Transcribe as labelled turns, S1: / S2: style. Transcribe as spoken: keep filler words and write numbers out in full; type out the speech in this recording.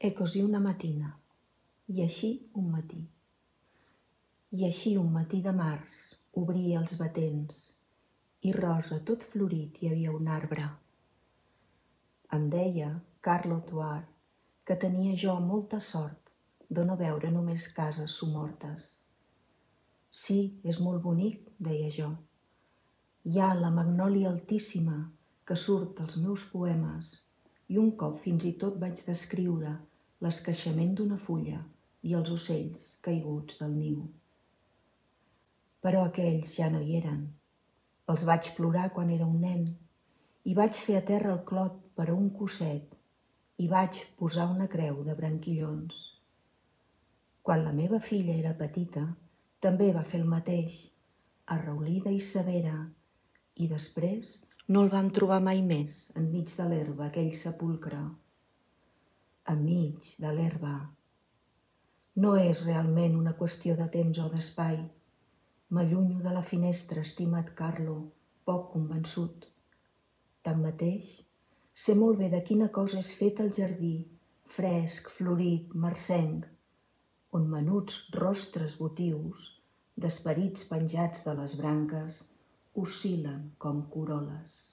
S1: E così una mattina, i així un matí. I així un matí de març obria els batents i rosa tot florit hi havia un arbre. Em deia Carlo Tuar que tenia jo molta sort de no veure només cases somortes. Sí, és molt bonic, deia jo. Hi ha la magnòlia altíssima que surt als meus poemes i un cop fins i tot vaig descriure l'esqueixament d'una fulla i els ocells caiguts del niu. Però aquells ja no hi eren. Els vaig plorar quan era un nen i vaig fer a terra el clot per a un cosset i vaig posar una creu de branquillons. Quan la meva filla era petita, també va fer el mateix, arraulida i severa, i després no el vam trobar mai més enmig de l'herba aquell sepulcre. Enmig de l'herba. No és realment una qüestió de temps o d'espai. M'allunyo de la finestra, estimat Carlo, poc convençut. Tanmateix, sé molt bé de quina cosa és fet el jardí, fresc, florit, marcenc, on menuts rostres votius, d'esperits penjats de les branques, oscil·len com coroles.